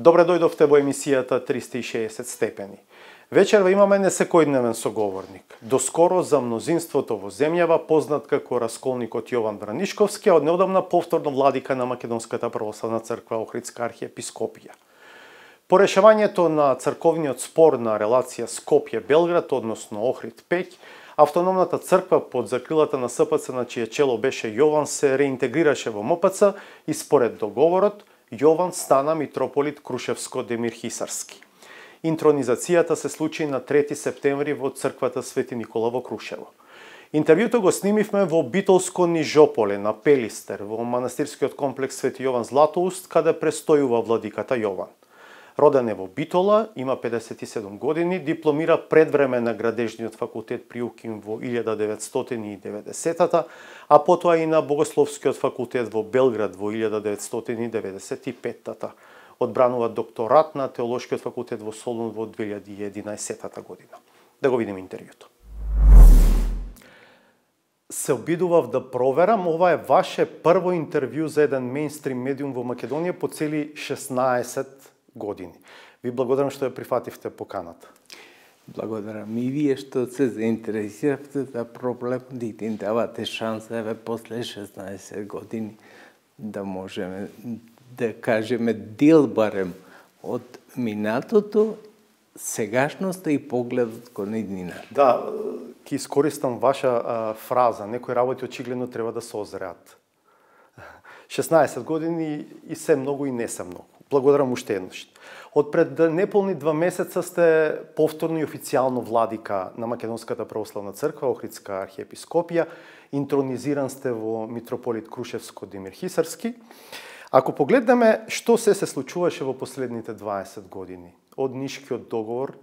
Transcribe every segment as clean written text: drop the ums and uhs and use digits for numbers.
Добре дојдовте во емисијата 360 степени. Вечерва имаме несекојдневен соговорник. Доскоро за мнозинството во земјава познат како расколникот Јован Вранишковски, а од неодамна повторно владика на Македонската православна црква Охридска архиепископија. По решавањето на црковниот спор на релација Скопје-Белград, односно Охрид-Пеќ, автономната црква под закрилата на СПЦ, на чие чело беше Јован, се реинтегрираше во МПЦ и според договорот Јован стана митрополит Крушевско-Демир-Хисарски. Интронизацијата се случи на 3 септември во црквата Свети Никола во Крушево. Интервјуто го снимивме во Битолско Нижополе на Пелистер, во манастирскиот комплекс Свети Јован Златоуст, каде престојува владиката Јован. Роден е во Битола, има 57 години, дипломира предвреме на градежниот факултет при УКИМ во 1990-та, а потоа и на Богословскиот факултет во Белград во 1995-та. Одбранува докторат на Теолошкиот факултет во Солун во 2011 година. Да го видиме интервјуто. Се обидував да проверам, ова е ваше прво интервју за еден мејнстрим медиум во Македонија по цели 16 години. Ви благодарам што ја прифативте поканата. Благодарам и вие што се заинтересиравте за проблемот и ни давате шанса еве после 16 години да можеме да кажеме дел барем од минатото, сегашноста и погледот кон иднината. Да, ќе искористам ваша фраза. Некои работи очигледно треба да се озреат. 16 години и се многу и не се многу. Благодарам уште еднаш. Од пред неполни 2 месеца сте повторно и официјално владика на Македонската православна црква, Охридска архиепископија, интронизиран сте во митрополит Крушевско-Демир-Хисарски. Ако погледнеме што се случуваше во последните 20 години, од Нишкиот договор,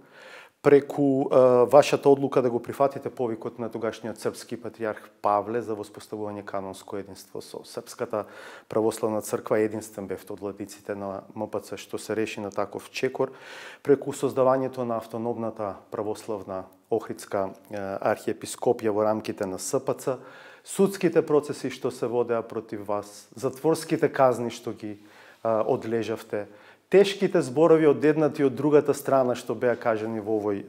преку вашата одлука да го прифатите повикот на тогашниот српски патриарх Павле за воспоставување канонско единство со Српската православна црква, единствен бевте од владиците на МПЦ, што се реши на таков чекор, преку создавањето на автономната православна Охридска архиепископија во рамките на СПЦ, судските процеси што се водеа против вас, затворските казни што ги одлежавте, тешките зборови од едната и од другата страна што беа кажани во овој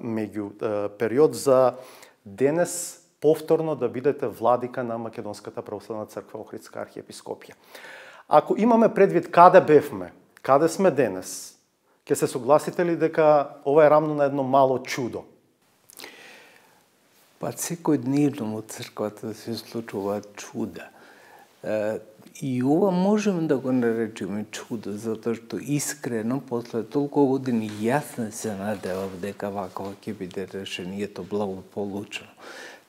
меѓу период за денес повторно да бидете владика на Македонската православна црква Охридска архиепископија. Ако имаме предвид каде бевме, каде сме денес, ќе се согласите ли дека ова е рамно на едно мало чудо? Па секојдневно во црквата се случуваат чуда. И ова можеме да го наречеме чудо, затоа што искрено, после толку години, јас не се надевав дека вакова ќе биде решението благополучно.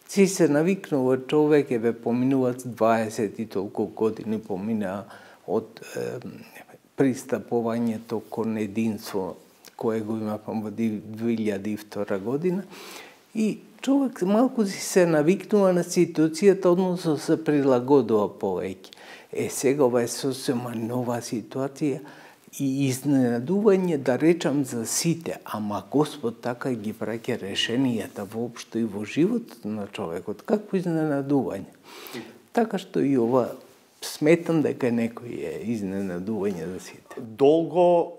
Си се навикнува човек, еве поминуваат 20 и толку години, помина од пристапувањето кон единство, кое го имавме во 2002 година, и човек малку си се навикнува на ситуацијата, односно се прилагодува повеќе. Сега ова е сосема нова ситуација и изненадување, да речам, за сите, ама Господ така ги праќа решенијата воопшто и во животот на човекот. Какво изненадување? Така што и ова сметам дека некој е изненадување за сите. Долго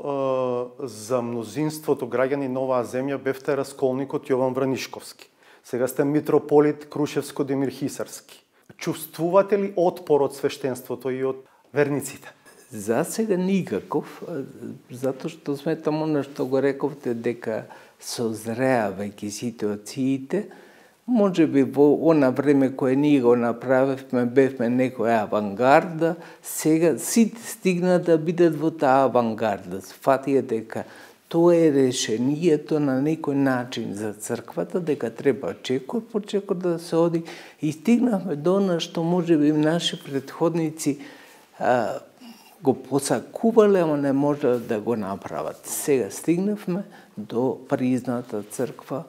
за мнозинството граѓани на оваа земја бевте расколникот Јован Вранишковски. Сега сте митрополит Крушевско-Демир-Хисарски. Чувствувате ли отпор од свештенството и од верниците? За сега никаков, затоа што сметам она што го рековте дека созреа веќе ситуациите. Може би во она време кое ние го направивме, бевме некоја авангарда, сега сите стигна да бидат во таа авангарда. Сфатија дека тоа е решението на некој начин за црквата, дека треба чекор по чекор да се оди, и стигнавме до она што може би наши предходници го посакувале, ама не може да го направат. Сега стигнавме до призната црква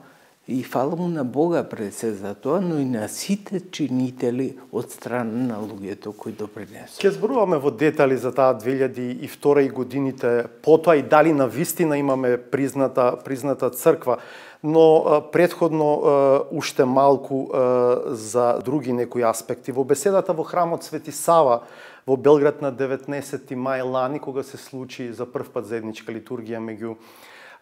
и фала му на Бога пред се за тоа, но и на сите чинители од страна на луѓето кои допринесоа. Ќе зборуваме во детали за таа 2002 и годините, потоа и дали на вистина имаме призната црква, но предходно уште малку за други некои аспекти. Во беседата во храмот Свети Сава во Белград на 19 мај лани, кога се случи за прв пат заедничка литургија меѓу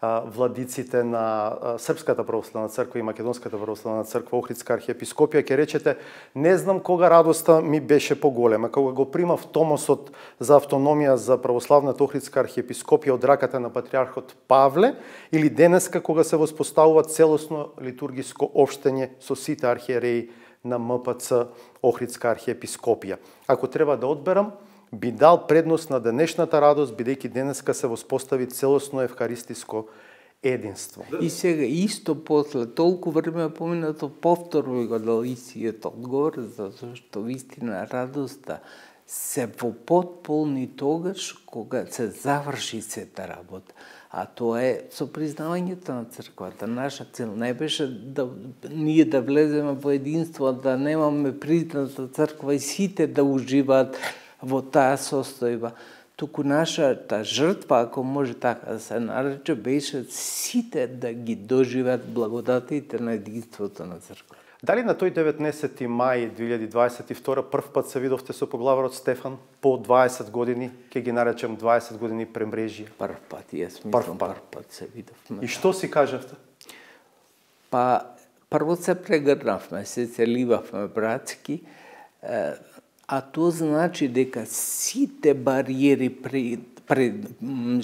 владиците на Српската православна црква и Македонската православна црква, Охридска архиепископија, ќе речете, не знам кога радоста ми беше поголема, кога го примав томосот за автономија за православната Охридска архиепископија од раката на патриархот Павле, или денеска кога се воспоставува целосно литургиско општење со сите архиереи на МПЦ Охридска архиепископија. Ако треба да одберам, би дал предност на денешната радост, бидејќи денеска се воспостави целосно евхаристиско единство. И сега исто после толку време поминато повторно го дал истиот одговор, затоа што вистина радоста се во потполни тогаш кога се заврши сета работа. А тоа е со признавањето на црквата. Наша цел не беше да ние да влеземе во единство, да немаме призната црква и сите да уживаат во таа состојба. Туку нашата жртва, ако може така да се нарече, беше сите да ги доживеат благодатите на единството на црква. Дали на тој 19 мај 2022 прв пат се видовте со поглаварот Стефан по 20 години, ќе ги наречем 20 години премрежија? Прв пат, јас мислам прв пат се видовме. И што си кажавте? Па, прво се прегрнавме, се целивавме братски, а тоа значи дека сите бариери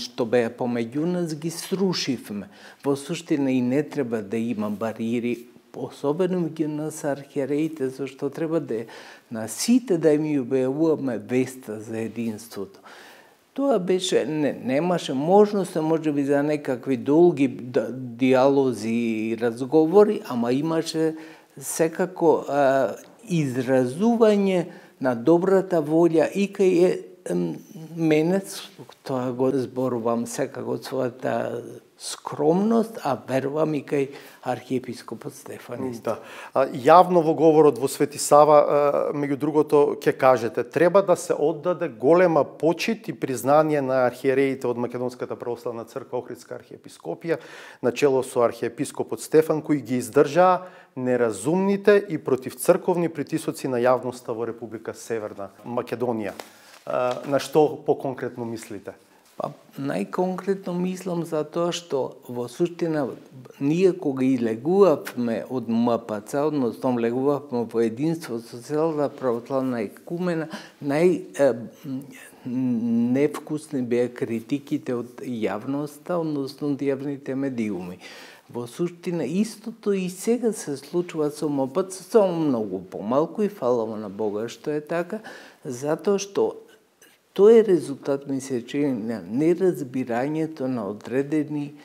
што беа помеѓу нас ги срушивме. Во суштина и не треба да има бариери, особено меѓу нас архиереите, зашто треба да на сите да им објавуваме веста за единството. Тоа беше, немаше можност, можеби за некакви долги диалози и разговори, ама имаше секако изразување на добрата волја и кај мене, тоа го зборувам секако својата скромност, а верувам и кај архиепископот Стефан. Да. Јавно во говорот во Свети Сава, меѓу другото, ќе кажете, треба да се оддаде голема почит и признание на архиереите од Македонската православна црква, Охридска архиепископија, начело со архиепископот Стефан, кои ги издржаа неразумните и противцрковни притисоци на јавноста во Република Северна Македонија. На што поконкретно мислите? Па, најконкретно мислам за тоа што во суштина ние кога излегувавме од МПЦ, односно влегувавме во единство со целата православна екумена, невкусни беа критиките од јавноста, односно од јавните медиуми. Во суштина истото и сега се случува со МПЦ, само многу помалку и фаламо на Бога што е така, затоа што тоа е резултат, ми се чини, на неразбирањето на одредени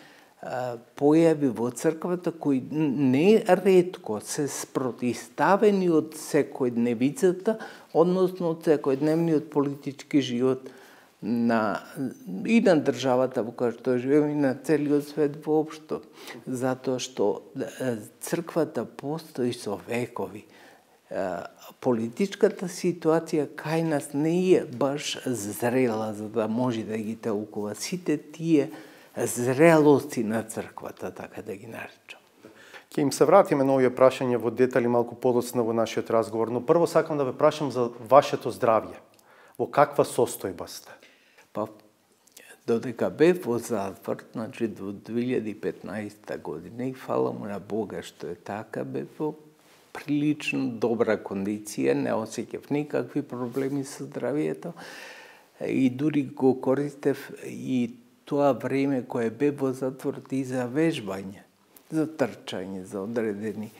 појави во црквата кои не ретко се спротиставени од секојдневицата, односно од секојдневниот политички живот и на државата во која што живееме и на целиот свет воопшто. Затоа што црквата постои со векови. Политичката ситуација кај нас не е баш зрела за да може да ги толкува сите тие зрелости на црквата, така да ги наречам. Ќе им се вратиме на овие прашања во детали малку подоцна во нашиот разговор, но прво сакам да ве прашам за вашето здравје. Во каква состојба сте? Па, додека бев во затвор, значи до 2015 година, и фала му на Бога што е така, бев во прилично добра кондиција, не осеќав никакви проблеми со здравието и дури го користев и тоа време кое бе во затвор и за вежбање, за трчање, за одредени.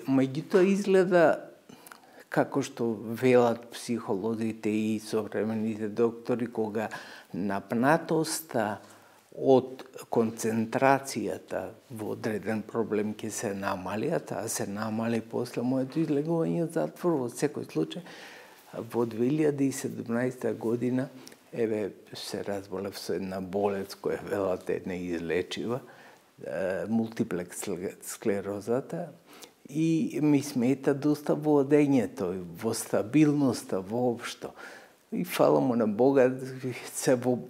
Меѓутоа изгледа како што велат психолозите и современите доктори, кога напнатоста од концентрацијата во одреден проблем ќе се намали, а таа се намали после моето излегување од затвор. Во секој случај, во 2017 година, се разболев со една болест која велат е неизлечива, мултиплекс склерозата, и ми смета доста во одењето, во стабилноста воопшто. И фала му на Бога,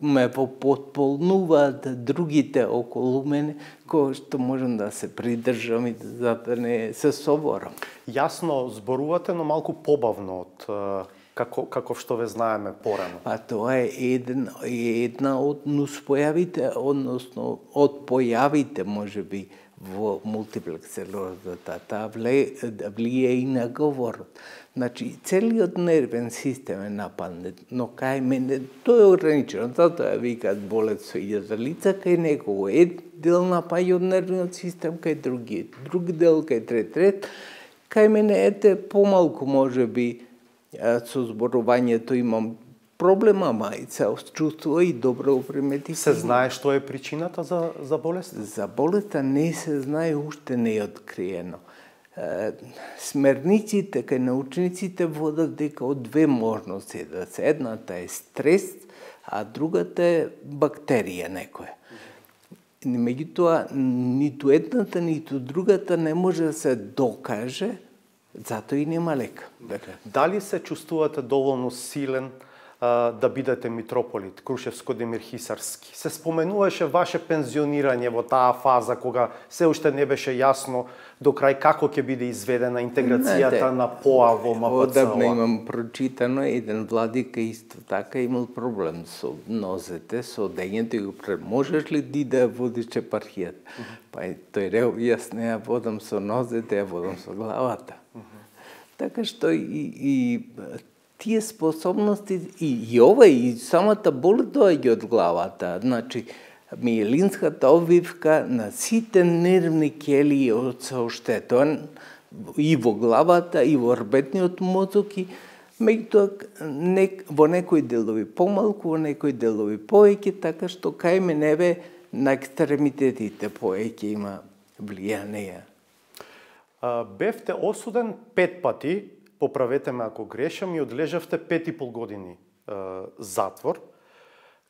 ме потполнуваат другите околу мене, кои што можам да се придржам и да не се соборам. Јасно зборувате, но малку побавно од каков што ве знаеме порано? Па тоа е една од нуспојавите, односно од појавите можеби во мултиплекс склерозата. Таа влие и на говорот. Значи, целиот нервен систем е нападнет, но кај мене тоа е ограничено. Затоа викаат болет со 1000 лица, кај некого е дел напаѓа од нервниот систем, кај друг дел, кај трет. Кај мене ете помалку можеби со зборувањето имам проблема, ама и се чувствува и добро приметив. Се знае што е причината за болест? За болеста не се знае, уште не е откриено. Смерниците кај научниците водат дека од две можности да се. Едната е стрес, а другата е бактерија некоја. Меѓутоа, ниту едната, ниту другата не може да се докаже, затоа и нема лек. Дали се чувствувате доволно силен да бидете митрополит, Крушевско-Демир-Хисарски? Се споменуваше ваше пензионирање во таа фаза, кога се уште не беше јасно до крај како ќе биде изведена интеграцијата на ПОА во МПЦО. Одавна имам прочитано, еден владика исто така имал проблем со нозете, со дењето и го можеш ли ти да водиш епархијата? Па тој рел, јас не ја водам со нозете, ја водам со главата. Така што и тие способности и ова и самата болест доаѓа од главата. Значи, миелинската обвивка на сите нервни ќелии се оштетен и во главата, и во рбетниот мозок, и меѓутоа во некои делови помалку, во некои делови повеќе, така што кај мене на екстремитетите повеќе има влијание. Бевте осуден 5 пати, поправете ме ако грешам, и одлежавте 5,5 години затвор.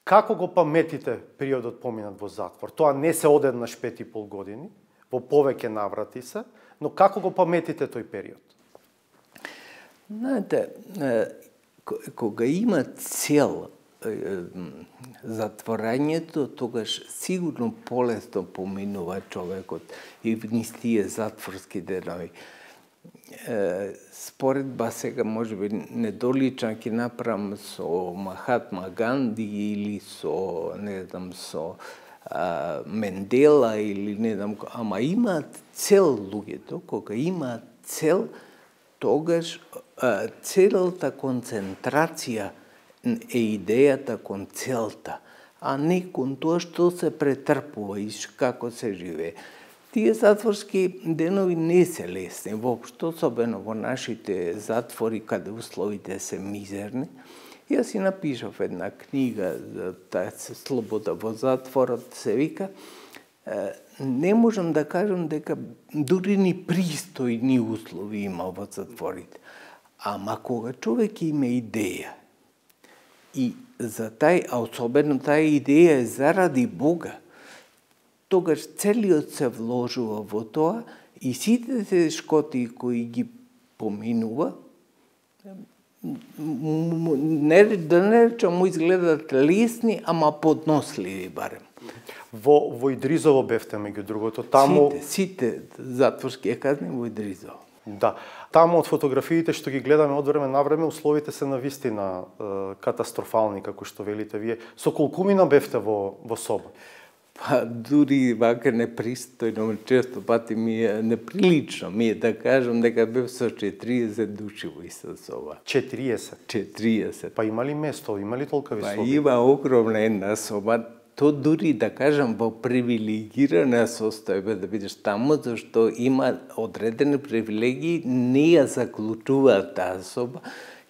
Како го паметите периодот поминат во затвор? Тоа не се одеднаш 5,5 години, во повеќе наврати се, но како го паметите тој период? Знаете, кога има цел затворањето, тогаш сигурно полесно поминува човекот и низ тие затворски денови. Споредба сега можеби недолична ќе направам со Махатма Ганди или со, не знам, со Мендела или не знам, ама имаат цел луѓето, кога имаат цел, тогаш целата концентрација е идејата кон целта, а не кон тоа што се претрпува и како се живее. Тие затворски денови не се лесни, воопшто, особено во нашите затвори, каде условите се мизерни. Јас си напишав една книга за таа слобода во затворот, се вика. Не можам да кажам дека дури ни пристојни услови има во затворите. Ама кога човек има идеја, и за а особено таа идеја е заради Бога, тогаш целиот се вложува во тоа и сите тешкоти кои ги поминува, да не речам му изгледат лесни, ама подносливи барем. Во Идризово бевте, меѓу другото, таму... Сите затворски казни во Идризово. Да, таму од фотографиите што ги гледаме од време на време, условите се навистина катастрофални, како што велите вие. Со колкумина бевте во соба? Па дури вака непристојно, често пати ми е неприлично ми е да кажам дека бев со 40 души во иста соба. 40? 40. Па има ли место, има ли толкави соби? Па има огромна една соба. То дури да кажам во привилегирана состојба да бидеш таму, зашто има одредени привилегии, не ја заклучуваат таа соба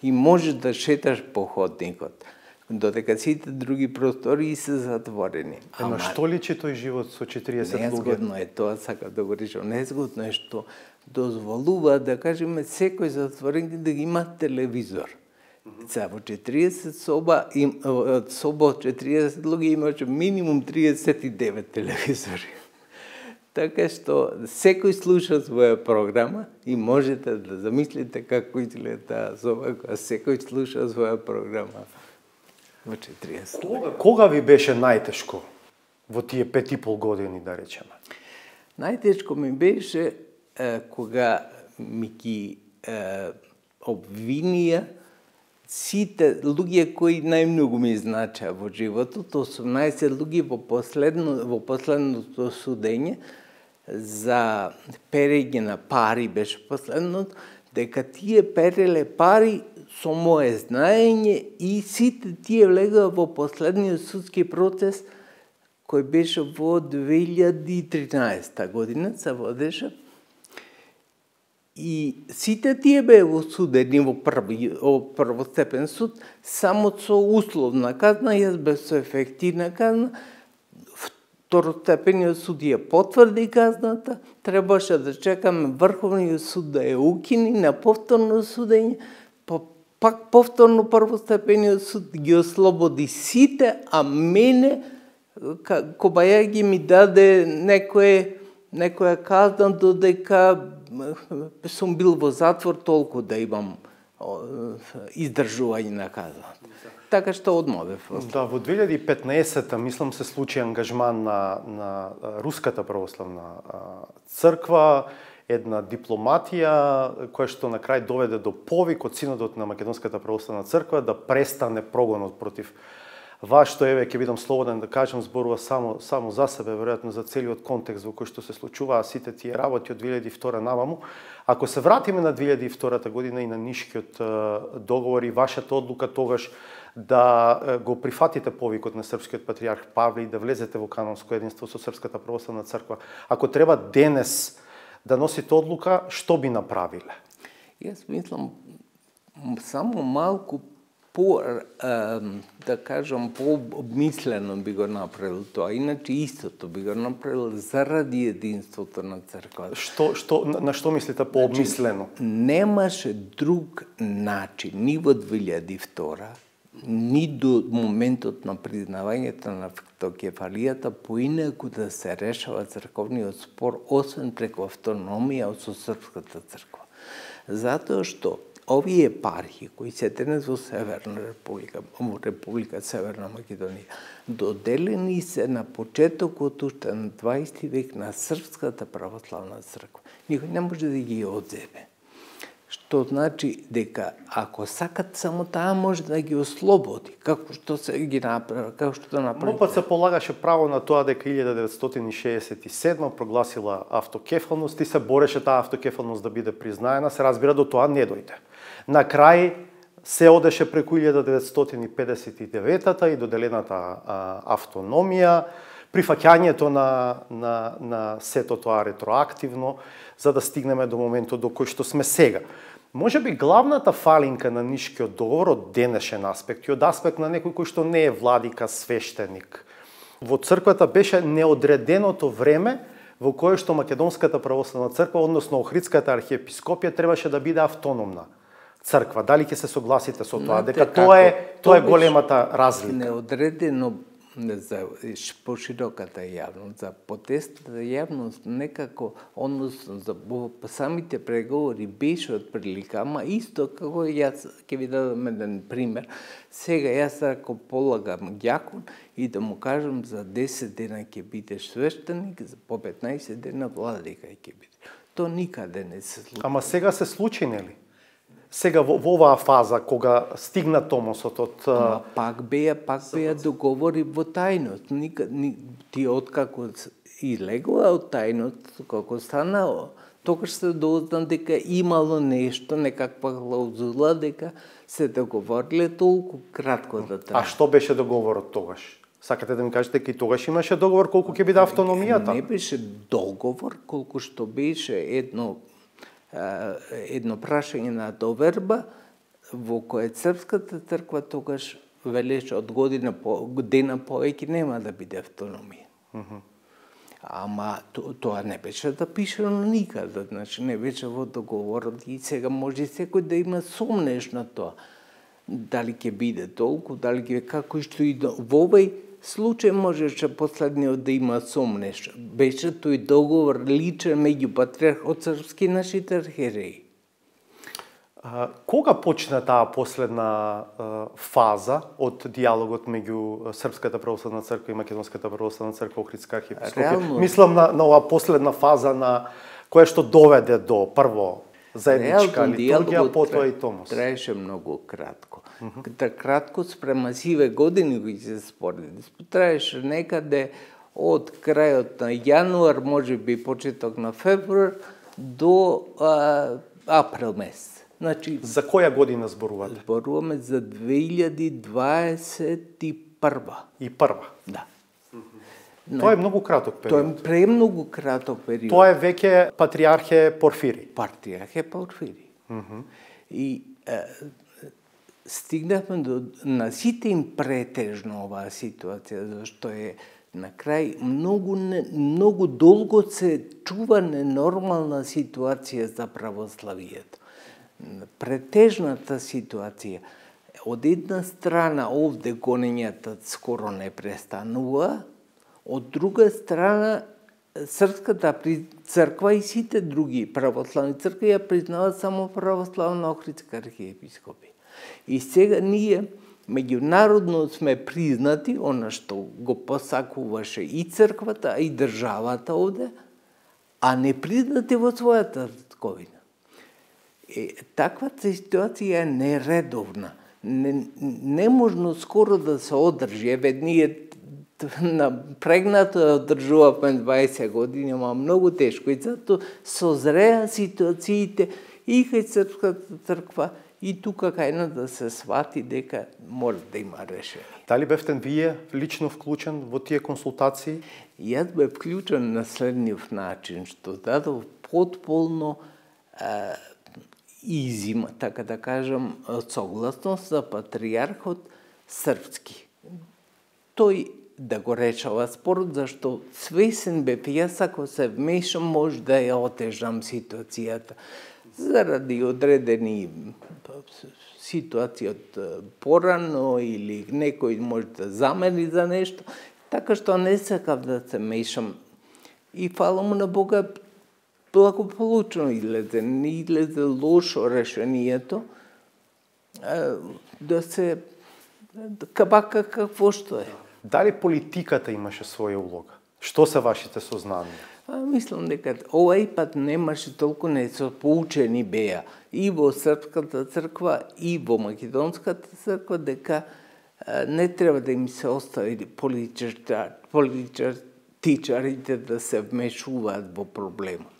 и можеш да шеташ по ходникот. Додека сите други простори се затворени. Ама што личи тој живот со 40 луѓе? Незгодно е тоа, сакам да го речам. Незгодно е што дозволува, да кажеме, секој затворен да има телевизор. За во 40 соба од 40 луѓе имаше минимум 39 телевизори. Така што секој слуша своја програма и можете да замислите како изгледа таа соба кога секој слуша своја програма во 40. Кога ви беше најтешко во тие 5,5 години, да речеме? Најтешко ми беше кога ми ги обвинија сите луѓе кои најмногу ми значеа во животот, 18 луѓе во последното судење за перење на пари беше последното, дека тие переле пари со мое знаење и сите тие влегаа во последниот судски процес кој беше во 2013 година, се водеше. И сите тие беа осудени во првостепен суд само со условна казна, јас бев со ефективна казна. Второстепениот суд ја потврди казната, требаше да чекаме Врховниот суд да ја укини на повторно судење, пак повторно првостепениот суд ги ослободи сите, а мене Кобајаги ми даде некоја казна додека сум бил во затвор толку да имам издржување на казната. Така што одмовев. Да, во 2015-та, мислам, се случи ангажман на Руската православна црква, една дипломатија која што на крај доведе до повик од Синодот на Македонската православна црква да престане прогонот против вас, што еве ќе бидам слободен да кажам, зборува само за себе, веројатно за целиот контекст во кој што се случуваа сите тие работи од 2002 наваму. Ако се вратиме на 2002 година и на Нишкиот договор и вашата одлука тогаш да го прифатите повикот на српскиот патриарх Павле и да влезете во канонско единство со Српската православна црква, ако треба денес да носите одлука, што би направиле? Јас мислам само малку да кажам, по-обмислено би го направил тоа. Иначе истото би го направил заради единството на црквата. На што мислите по-обмислено? Немаше друг начин, ни во 2002, ни до моментот на признавањето на автокефалијата, поинаку да се решава црковниот спор, освен преку автономија со Српската црква. Затоа што овие епархии кои се денес во Северна Република, во Република Северна Македонија, доделени се на почетокот уште на 20 век на Српската православна црква. Никој не може да ги одземе. Што значи дека ако сакат само таа може да ги ослободи, како што се ги направи, како што да направи. Но пат се полагаше право на тоа дека 1967 прогласила автокефалност и се бореше таа автокефалност да биде признаена, се разбира до тоа не дојде. На крај се одеше преку 1959-та и доделената автономија, прифаќањето на сето тоа ретроактивно, за да стигнеме до моментот до кој што сме сега. Може би главната фалинка на Нишкиот договор од денешен аспект и од аспект на некој кој што не е владика, свештеник. Во црквата беше неодреденото време во кое што Македонската православна црква, односно Охридската архиепископија, требаше да биде автономна црква. Дали ќе се согласите со тоа? Дека тоа е големата разлика. Неодредено за пошироката јавност, за потестата јавност некако, односно за самите преговори беше од прилика, ама исто како јас ќе ви дадам еден пример. Сега јас ако полагам ѓакон и да му кажам за 10 дена ќе бидеш свештеник, по 15 дена владика ќе бидеш. То никаде не се случи. Ама сега се случи, нели? Сега во оваа фаза, кога стигна томосот од... Пак беа договори во тајност. Ти откако излегува од тајност, како станало, тогаш се дозна дека имало нешто, некаква клаузула, дека се договориле толку кратко да трае. А што беше договорот тогаш? Сакате да ми кажете дека и тогаш имаше договор колку ќе биде автономијата? Не беше договор, колку што беше едно прашање на доверба во кое Српската црква тогаш велеше од година повеќе нема да биде автономија. Ама тоа не беше да пишено никаде, значи не беше во договорот и сега може секој да има сомнеш на тоа. Дали ќе биде толку, дали ќе како што и во овој случај можеше последниот да има сомнеш. Беше тој договор личен меѓу патриархот српски и нашите архиереи. Кога почна таа последна фаза од диалогот меѓу Српската православна црква и Македонската православна црква, Охридска архиепископија? Мислам на оваа последна фаза на која што доведе до прво заедничка литургија, потоа и томос. Траеше многу кратко. Да кратко спрема сиве години кои се спореди. Траеше некаде од крајот на јануар, може би почеток на февруар, до април месец. Значи, За која година зборувате? Зборуваме за 2021. И прва. Да. Тоа е многу краток Тоа период. е премногу краток период. Тоа е веќе патриархе Порфири. Патриархе Порфири. И стигнахме на сите им претежно оваа ситуација, зашто е на крај многу долго се чува ненормална ситуација за православието. Претежната ситуација. Од една страна овде гонењата скоро не престанува, од друга страна Српската црква и сите други православни цркви ја признаваат само православна Охридска архиепископија. И сега ние меѓународно сме признати, она што го посакуваше и црквата, и државата овде, а не признати во својата татковина. Таквата ситуација е нередовна. Неможно скоро да се одржи. Еве, ние напрегнато одржувавме 20 години, ама многу тешко. И затоа созреа ситуациите и кај Српската црква, и тука кај да се свати дека мора да има решение. Дали бевте вие лично вклучен во тие консултации? Јас бев вклучен на следниот начин, што дадов потполно изима, така да кажам, согласност за патриархот српски. Тој да го решава спорот, зашто свесен бев јас, ако се вмешам, може да ја отежам ситуацијата. Заради одредени ситуација од порано или некој може да замени за нешто, така што не сакав да се мешам. И фала му на Бога, благополучно излезе, не излезе лошо решението, да се кабака какво што е. Дали политиката имаше своја улога? Што се вашите сознанија? Мислам дека овај пат немаше толку, не се поучени беа и во Српската црква и во Македонската црква дека не треба да им се остави политичарите да се вмешуваат во проблемот.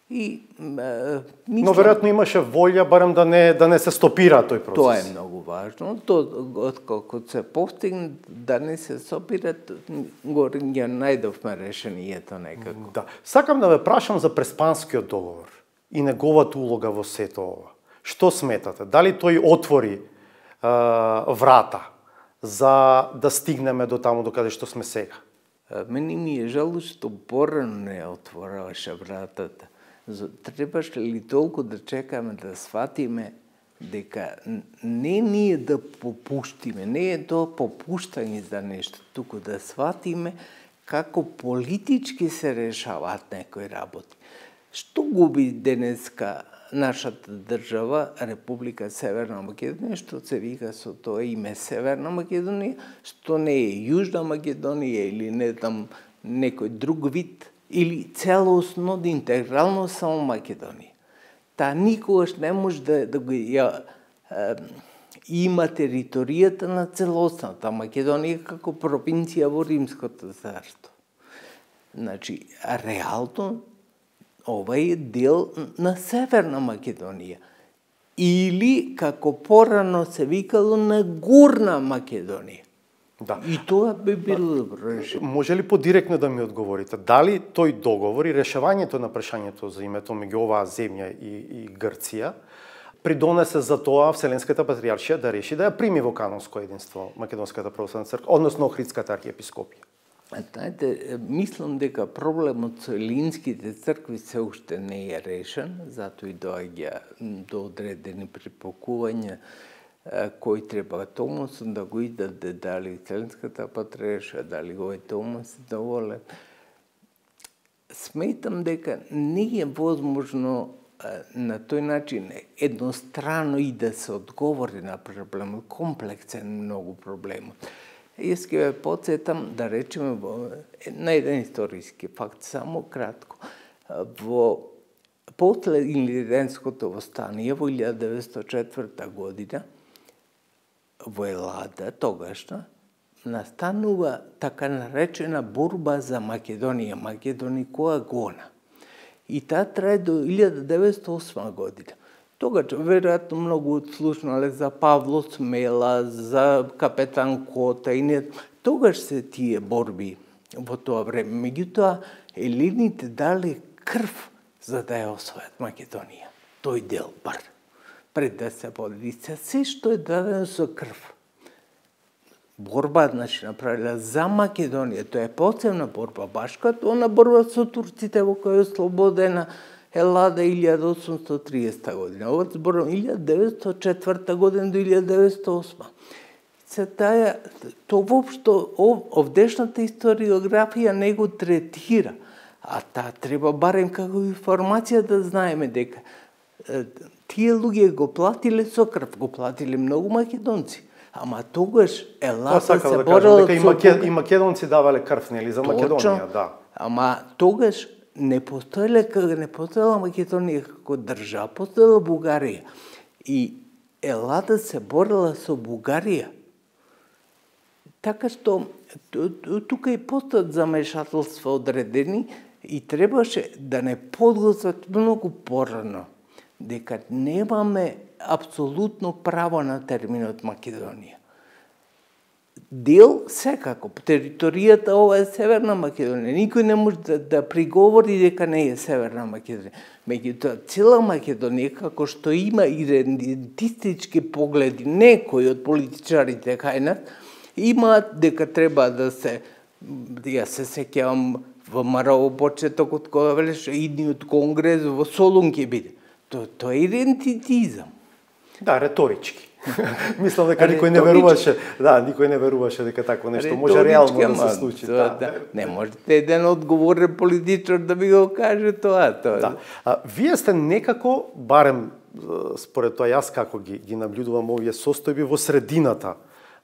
И Но веројатно имаше волја барем да не се стопира тој процес. Тоа е многу важно. Откако се постигне да не се стопира, ја најдовме решението некако. Да. Сакам да ве прашам за Преспанскиот договор и неговата улога во сето ова. Што сметате? Дали тој отвори врата за да стигнеме до таму до каде што сме сега? Мене ми е жало што порано не отвораваше вратата. Требаше ли толку да чекаме да сватиме дека не ние да попуштиме, не е тоа попуштање за нешто, туку да сватиме како политички се решаваат некои работи. Што губи денеска нашата држава, Република Северна Македонија, што се вика со тоа име Северна Македонија, што не е Јужна Македонија или не знам некој друг вид, или целосно, интегрално само Македонија. Таа никогаш не може да го има територијата на целосната Македонија како провинција во Римското царство. Значи, реално, ова е дел на Северна Македонија. Или, како порано се викало, на Горна Македонија. Да. И тоа би било добро решение. Може ли подиректно да ми одговорите? Дали тој договор и решавањето на прашањето за името меѓу оваа земја и Грција придонесе за тоа Вселенската патриаршија да реши да ја прими во канонско единство Македонската православна црква, односно Охридската архиепископија? Знаете, мислам дека проблемот со елинските цркви се уште не е решен, затоа и доаѓа до одредени припокувања кој треба Томос да го издаде, дали Вселенската патриаршија, дали овој Томос доволен. Сметам дека не е возможно на тој начин еднострано и да се одговори на проблемот, комплексен многу проблемот. Јас ќе ве потсетам да речеме на еден историски факт, само кратко. Во после Илиренското востание во 1904 година во Елада, тогашна, настанува така наречена борба за Македонија, Македоникоа гона. И таа трае до 1908 година. Тогаш, веројатно, многу слушнале за Павло Смела, за капетан Кота и не... Тогаш се тие борби во тоа време. Меѓутоа, елените дали крв за да ја освојат Македонија. Тој дел бар. Пред да се подели. Се што е дадено со крв. Борба, значи, направила за Македонија. Тоа е посебна борба, баш като она борба со турците во која е ослободена Елада 1830 година. Ова зборам 1904 година до 1908. Се таа, то воопшто овдешната историографија не го третира, а таа треба барем како информација да знаеме дека тие луѓе го платиле со крв, го платиле многу македонци. Ама тогаш Елада се борела дека и македонци давале крв, нели, за Македонија, да. Ама тогаш не постоела Македонија како држава, постоела Бугарија. И Елада се борела со Бугарија. Така што тука и постојат замешателства одредени и требаше да не подготват многу порано дека немаме апсолутно право на терминот Македонија. Дел секако, територијата ова е Северна Македонија. Никој не може да приговори дека не е Северна Македонија. Меѓутоа, цела Македонија, како што има идентистички погледи, некои од политичарите кај нас, имаат дека треба да се, ја се сеќавам во Марово почетокот кога велеше идниот конгрес во Солун ќе биде. Тоа е идентитизам. Да, реторички. Мислам дека никој не веруваше, никој не веруваше дека такво нешто може реално да се случи. Не можете еден одговорен политичар да ми го каже тоа. Да. Вие сте некако, барем според тоа јас како ги наблюдувам овие состојби, во средината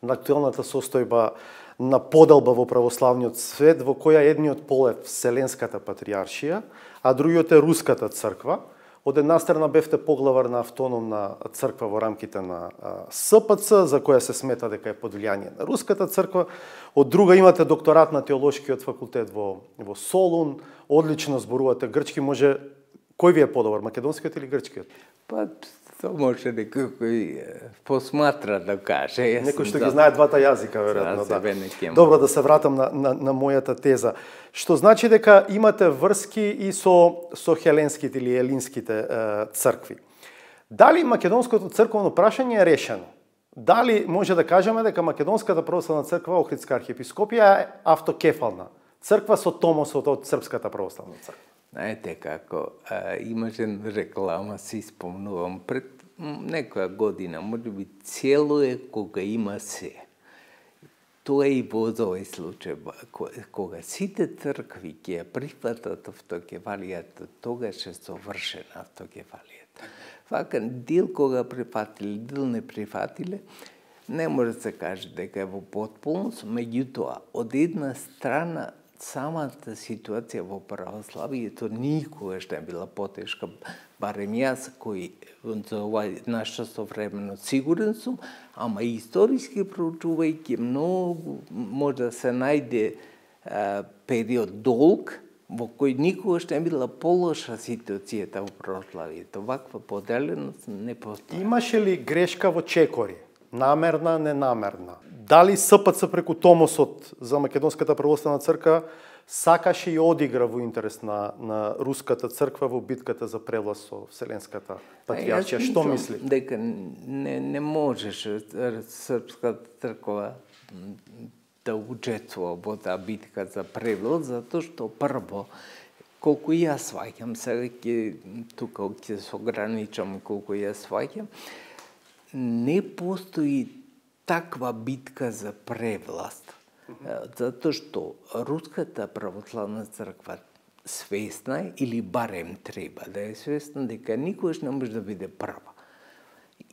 на актуелната состојба на поделба во православниот свет, во која едниот пол е Вселенската патријаршија, а другиот е Руската црква. Од една страна бевте поглавар на автономна црква во рамките на СПЦ, за која се смета дека е под влијание на Руската црква. Од друга имате докторат на теолошкиот факултет во Солун, одлично зборувате грчки, може кој ви е подобар, македонскиот или грчкиот? Па, тоа може некој кој посматра да каже. Некој што ги знае двата јазика, веројатно, да. Добро, да се вратам на мојата теза. Што значи дека имате врски и со хеленските или елинските цркви. Дали македонското црковно прашање е решено? Дали може да кажеме дека Македонската православна црква, Охридска архиепископија е автокефална црква со томосот од Српската православна црква? Знаете како, имаше реклама, си спомнувам, пред некоја година, може би цело е кога има се. Тоа е и во овој случај. Кога сите цркви ќе ја прифатат автокефалијата, тогаш е совршена автокефалијата. Вака, дел кога прифатиле, дел не прифатиле, не може да се каже дека е во потполност, меѓутоа, од една страна, самата ситуација во православието никогаш не била потешка, барем јас кој за ова наше современо сигурен сум, ама и историски проучувајќи многу може да се најде период долг во кој никогаш не била полоша ситуацијата во православието. Ваква поделеност не постои. Имаше ли грешка во чекори? Намерна, ненамерна? Дали СПЦ преку томосот за Македонската православна црква сакаше и одигра во интерес на Руската црква во битката за превласт со Вселенската патријаршија? Што мисли? Дека не можеше Српската црква да учествува во таа битка за превласт, затоа што прво, колку јас сваќам, сега тука ќе се ограничам колку јас сваќам, не постои таква битка за превласт. Затоа што Руската православна црква свесна е, или барем треба да е свесна, дека никогаш не може да биде прва.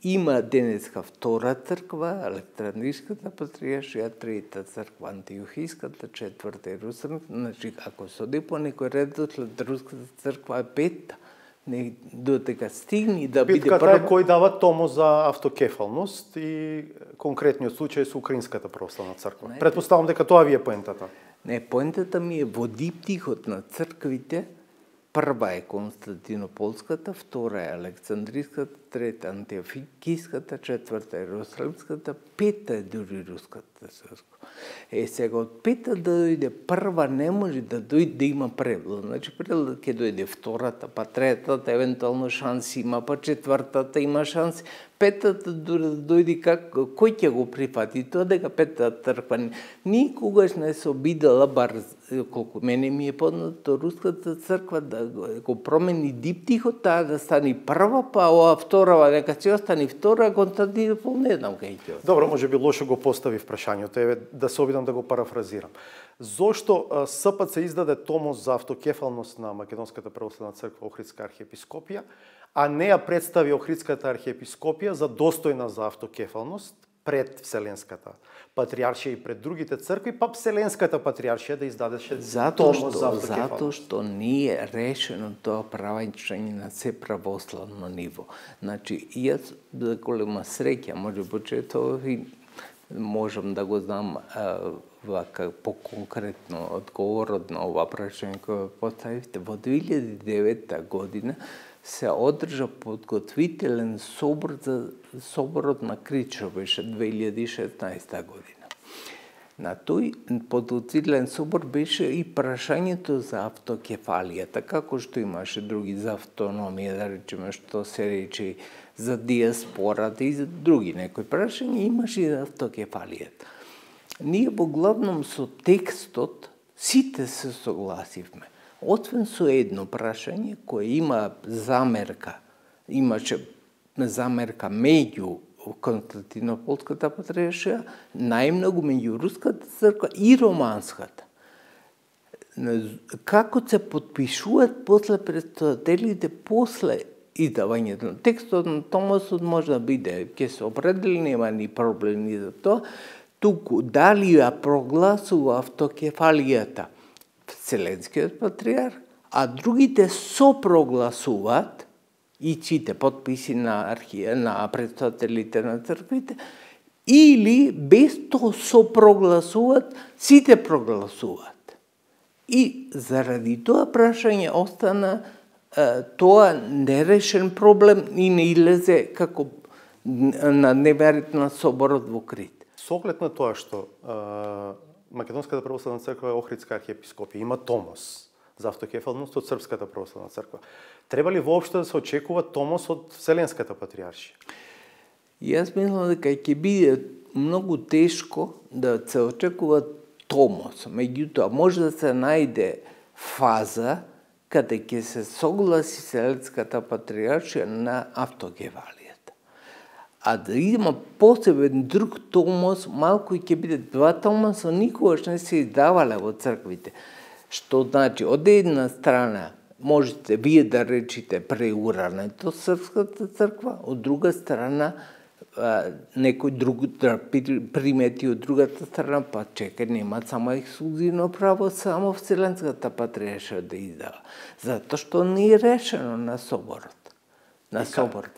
Има денеска втора црква, Александриската патријаршија, трета црква, Антиохиската, четврта Ерусалимска. Значи, ако се оди по некој редослед, Руската црква е пета. Додека стигне да биде Битката прва. е кој дава томос за автокефалност и конкретниот случај со Украинската православна црква. Претпоставам дека тоа ви е поентата. Не, поентата ми е во диптихот на црквите. Прва е Константинополската, втора е Александриската, трета Антиохиската, четврта е Иерусалимската, пета е дури Руската црква. Сега од пета да дојде прва не може да дојде да има превод. Значи превод ќе дојде втората, па третата евентуално шанси има, па четвртата има шанси. Петата да дојде кој ќе го прифати тоа дека петата црква никогаш не се обидела, бар колку мене ми е познато, Руската црква да го промени диптихот, таа да стане прва, па ова вторава дека ќе остане втора, Константинопол не знам кај ќе. Добро, може би лошо го постави прашањето, еве да се обидам да го парафразирам. Зошто СПЦ издаде томос за автокефалност на Македонската православна црква Охридска архиепископија, а не ја представи Охридската архиепископија за достојна за автокефалност пред Вселенската патриаршија и пред другите цркви, па Вселенската патриаршија да издадеше томос за автокефалност? Затоа што не е решено тоа правањето на се православно ниво. Значи, јас за голема среќа, може почетово и можам да го знам вака по-конкретно одговорот на ова прашање кое поставивте. Во 2009 година се одржа подготвителен собор за соборот на Кричо, беше 2016 година. На тој подготвителен собор беше и прашањето за автокефалијата, како што имаше други за автономија, да речеме што се рече за диаспората и за други некои прашања, имаше и за автокефалијата. Ние во главном со текстот сите се согласивме. Освен со едно прашање кое има замерка, имаше замерка меѓу Константинополската патриаршија, најмногу меѓу Руската црква и Романската. Како се подпишуваат после предстојателите, после издавањето на текстот на томосот може да биде, ќе се определи, нема ни проблеми за тоа, туку дали ја прогласува автокефалијата Вселенскиот патриарх, а другите сопрогласуваат и чите подписи на предстојателите на црквите, или без тоа сопрогласуваат, сите прогласуваат. И заради тоа прашање остана тоа нерешен проблем и не излезе како на дневен на соборот во Крит. Со оглед на тоа што Македонската православна црква е Охридска архиепископија, има томос за автокефалност од Српската православна црква. Треба ли воопшто да се очекува томос од Вселенската патриаршија? Јас мислам дека ќе биде многу тешко да се очекува томос. Меѓутоа, може да се најде фаза каде ќе се согласи Вселенската патриаршија на автокефалијата. А да има посебен друг томос, малку и ќе биде два томоса, никогаш не се издавале во црквите. Што значи, од една страна можете вие да речите преурането Српската црква, од друга страна некој друг да примети од другата страна, па чекај, нема само ексклузивно право, само Вселенската патриаршија да издава. Затоа што не е решено на соборот.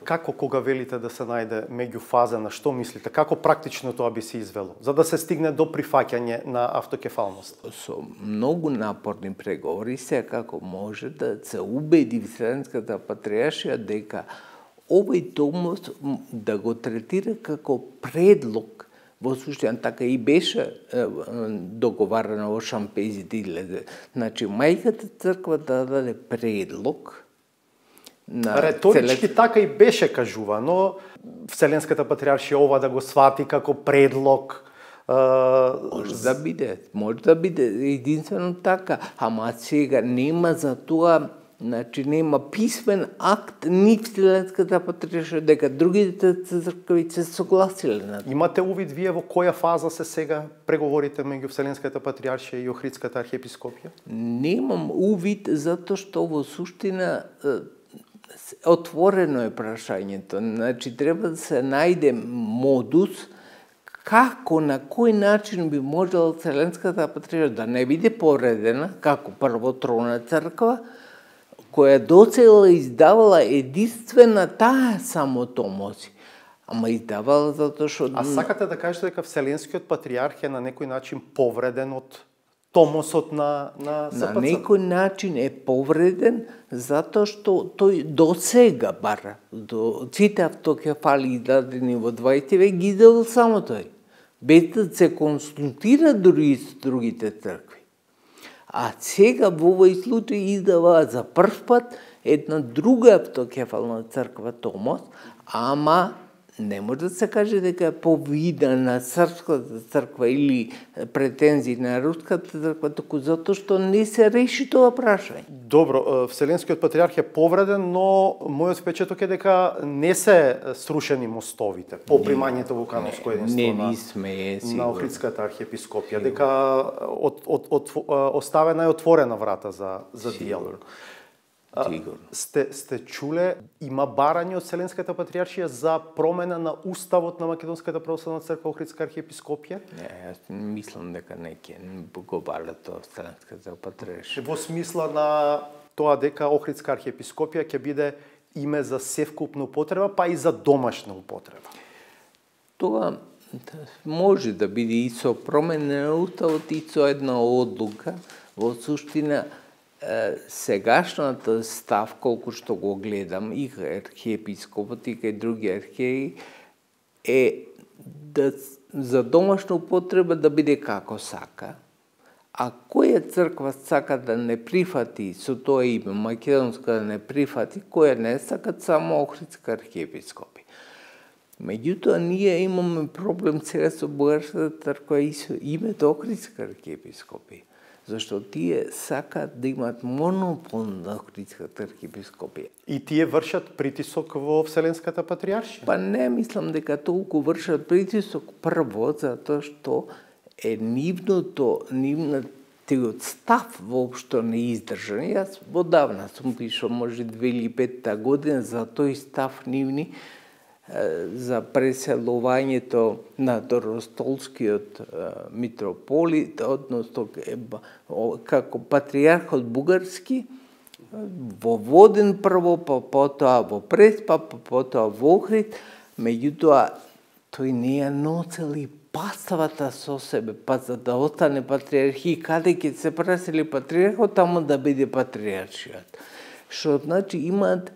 Како кога велите да се најде меѓуфаза, на што мислите? Како практично тоа би се извело, за да се стигне до прифаќање на автокефалност? Со многу напорни преговори се како може да се убеди Вселенската патриаршија дека овој томос да го третира како предлог, во суштина така и беше договарано во Шампезите излезе. Значи, мајката црква да даде предлог. Реторички така и беше кажувано, Вселенската патриаршија ова да го свати како предлог. Може да биде единствено така, ама сега нема за тоа, значи нема писмен акт ни Вселенската патриаршија дека другите цркви се согласиле на тоа. Имате увид вие во која фаза се сега преговорите меѓу Вселенската патриаршија и Охридската архиепископија? Немам увид затоа што во суштина отворено е прашањето. Значи, треба да се најде модус како, на кој начин би можела Вселенската патриаршија да не биде повредена, како првотровна црква, која доцела издавала единствена таа само томоси. Ама издавала затоа што... А сакате да кажете дека Вселенскиот патриарх е на некој начин повреден од томосот на СПЦ? На некој начин е повреден затоа што тој до сега бар, до сите автокефали издадени во 20 век ги издавал само тој, без да се консултира дури со другите цркви. А сега во овој случај издава за прв пат една друга автокефална црква Томос, ама не може да се каже дека е повида на српската црква или претензии на руската црква, току затоа што не се реши тоа прашање. Добро, Вселенскиот патриарх е повреден, но мојот впечаток е дека не се срушени мостовите по примањето во канонско единство на Охридската архиепископија, дека оставена е отворена врата за диалог. Сте чуле, има барање од Вселенската патриаршија за промена на уставот на Македонската православна црква Охридска архиепископија? Не, јас мислам дека не го бара тоа Вселенската патриаршија. Во смисла на тоа дека Охридска архиепископија ќе биде име за севкупна употреба, па и за домашна употреба. Тоа може да биде и со промена на уставот и со една одлука. Во суштина, сегашната став, колку што го гледам, и архиепископот и кај други архиеи, е да за домашна употреба да биде како сака, а која црква сака да не прифати со тоа име, македонска да не прифати, која не сакат само Охридска архиепископија. Меѓутоа, ние имаме проблем сега со бугарската црква и со името Охридска архиепископија. Зашто тие сакаат да имаат монопол на Охридската архиепископија. И тие вршат притисок во Вселенската патриаршија? Па не мислам дека толку вршат притисок прво, затоа што е нивниот став воопшто не издржан. Јас одавна сум пишал, може 2005 година, за тој став нивни, за преселувањето на Доростолскиот митрополит, односно како патриархот бугарски, во Воден прво, па потоа во Преспа, па потоа во Охрид, меѓутоа тој не ја ноцел и паставата со себе, па за да остане патриархи, каде ќе се пресели патриархот, таму да биде патриаршиот. Што значи имаат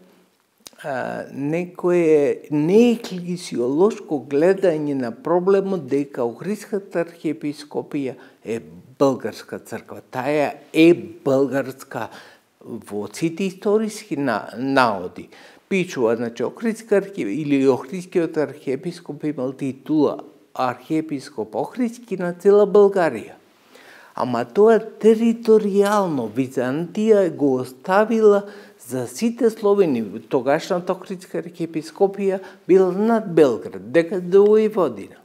некое нееклесиолошко гледање на проблемот дека Охридската архиепископија е българска црква. Таа е българска во сите историски наоди. Пишува, значи, Охридскиот архиепископ имал титула архиепископ Охридски на цела Българија. Ама тоа територијално Византија го оставила за сите словени. Тогашната Охридска архиепископија била над Белград, дека до Војводина.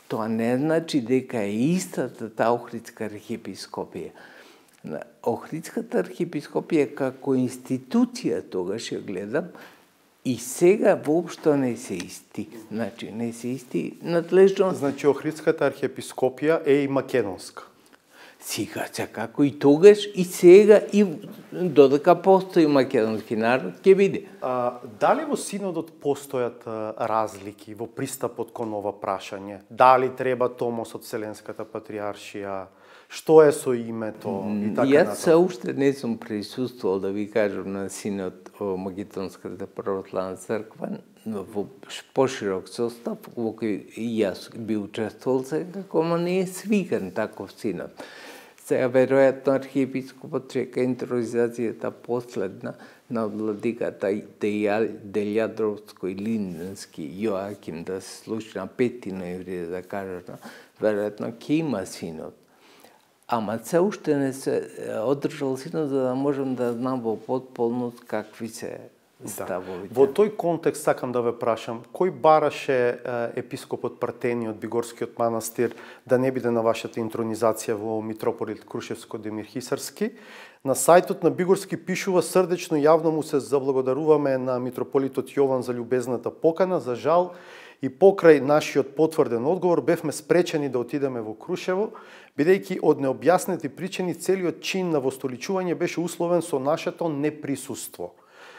Тоа не значи дека е истата таа Охридска архиепископија. Охридската архиепископија како институција тогаш ја гледам и сега воопшто не се исти. Значи не се исти надлежност. Значи Охридската архиепископија е и македонска. Сега, како и тогаш, и сега, и додека постои македонски народ, ќе биде. Дали во синодот постојат разлики во пристапот кон ова прашање? Дали треба Томос од Вселенската патриаршија? Што е со името? И така Јас се уште не сум присуствувал, да ви кажам, на синод о Македонската православна црква, во поширок состав, во кој и јас би учествувал сега, ама не е свикан таков синод. Сега, веројатно, архиепископот чека интронизацијата последна на владиката Делјадровско и Линденски Јоаким да се случи на 5 ноември, да кажат, веројатно ќе има синод. Ама се уште не се одржал синод, за да можам да знам во потполност какви се ставовите. Во тој контекст сакам да ве прашам, кој бараше епископот Партени од Бигорскиот манастир да не биде на вашата интронизација во митрополит Крушевско-Демир-Хисарски? На сајтот на Бигорски пишува: срдечно јавно му се заблагодаруваме на митрополитот Јован за љубезната покана. За жал и покрај нашиот потврден одговор бевме спречени да отидеме во Крушево, бидејќи од необјаснети причини целиот чин на востоличување беше условен со нашето неприсуство.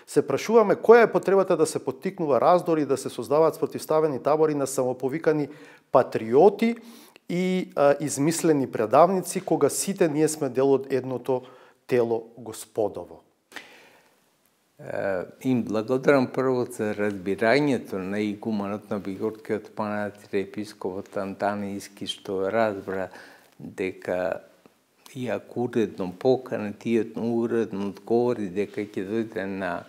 Се прашуваме која е потребата да се поттикнува раздори и да се создаваат спротивставени табори на самоповикани патриоти и измислени предавници, кога сите ние сме дел од едното тело Господово. Им благодарам прво за разбирањето на игуманот на Бигорскиот манастир, епископот Антанијски, што разбра дека иако уредно покана, тиот уредно одговори дека ќе дојде на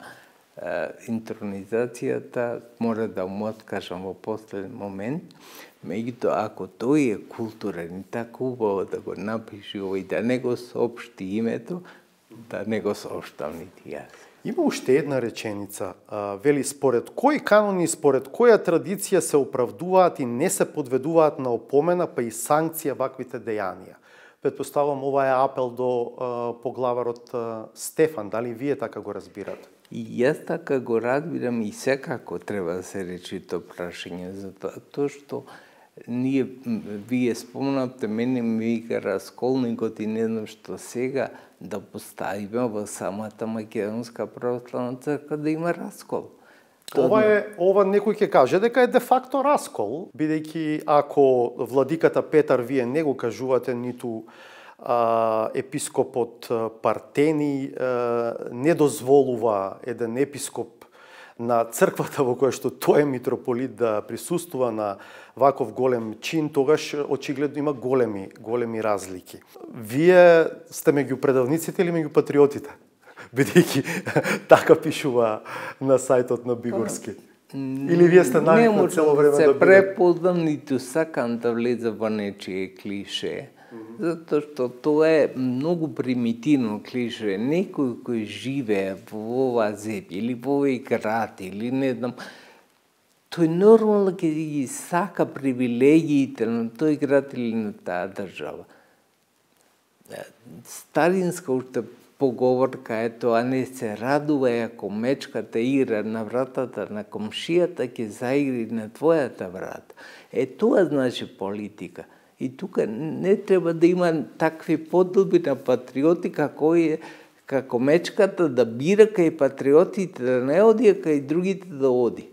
интронизацијата, мора да му откажам во последен момент. Меѓутоа, ако тој е културен и така убаво да го напише овој, да не го соопшти името, да не го соопштам нити јас. Има уште една реченица, вели: според кои канони и според која традиција се оправдуваат и не се подведуваат на опомена, па и санкција ваквите дејанија? Предпоставам ова е апел до поглаварот Стефан, дали вие така го разбирате? И јас така го разбирам и секако треба да се речи тоа прашање, затоа што вие спомнавте, мене ми вика расколникот и не знам што сега да поставиме во самата Македонска православна црква да има раскол. Ова некој ќе каже дека е де факто раскол, бидејќи ако владиката Петар вие не го кажувате, ниту епископот Партени не дозволува еден епископ на црквата во која што тој е митрополит да присуствува на ваков голем чин, тогаш очигледно има големи разлики. Вие сте меѓу предавниците или меѓу патриотите? Бидејќи така пишува на сајтот на Бигорски. Или вие сте навикнати цело време да бидете? Не можам да се препознам, ниту сакам да влезам во нечие клише, затоа што тоа е многу примитивно клише. Некој кој живее во оваа земја или во овој град или не знам, тој нормално ќе ги сака привилегиите на тој град или на таа држава. Старинска уште поговорка е тоа: не се радува ако мечката игра на вратата на комшијата, ќе заигри на твојата врата. Тоа значи политика. И тука не треба да има такви подоби на патриоти како мечката да бира кај патриотите да не оди, а кај другите да оди.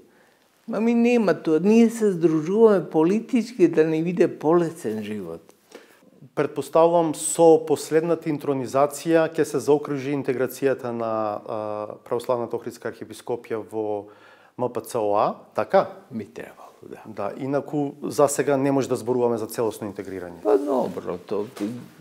Ми нема тоа. Ние се здружуваме политички да не биде полесен живот. Предпоставувам со последната интронизација ќе се заокружи интеграцијата на Православната Охридска архиепископија во МПЦОА, така? Би требало, да. Да, инаку за сега не може да зборуваме за целосно интегрирање. Па добро, то